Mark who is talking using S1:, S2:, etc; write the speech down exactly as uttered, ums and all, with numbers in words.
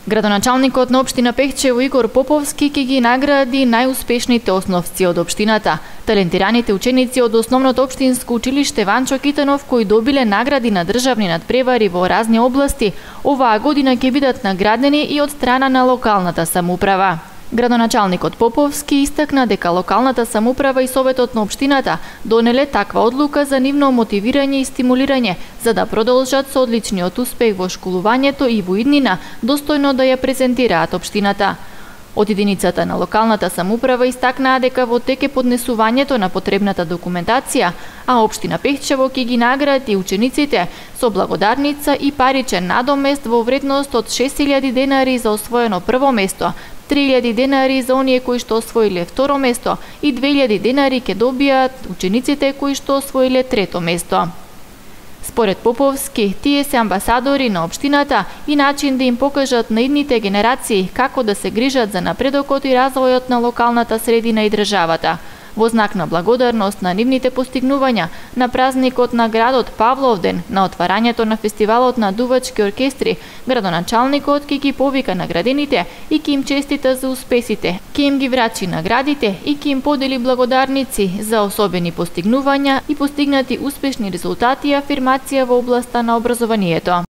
S1: Градоначалникот на општина Пехчево Игор Поповски ќе ги награди најуспешните основци од општината, талентираните ученици од Основното општинско училиште Ванчо Китанов кои добиле награди на државни надпревари во разни области, оваа година ќе бидат наградени и од страна на локалната самоуправа. Градоначалникот Поповски истакна дека локалната самоуправа и советот на општината донеле таква одлука за нивно мотивирање и стимулирање, за да продолжат со одличниот успех во школувањето и во иднина достојно да ја презентираат општината. Од единицата на локалната самоуправа истакнаа дека во тек е поднесувањето на потребната документација, а општина Пехчево ќе ги награди учениците со благодарница и паричен надомест во вредност од шест илјади денари за освоено прво место, три илјади денари за оние кои што освоиле второ место и две илјади денари ќе добијат учениците кои што освоиле трето место. Според Поповски, тие се амбасадори на општината и начин да им покажат на идните генерации како да се грижат за напредокот и развојот на локалната средина и државата. Во знак на благодарност на нивните постигнувања, на празникот на градот Павловден, на отварањето на фестивалот на дувачки оркестри, градоначалникот ќе ги повика наградените и ќе им честита за успесите, ќе им ги врачи наградите и ќе им подели благодарници за особени постигнувања и постигнати успешни резултати и афирмација во областа на образованието.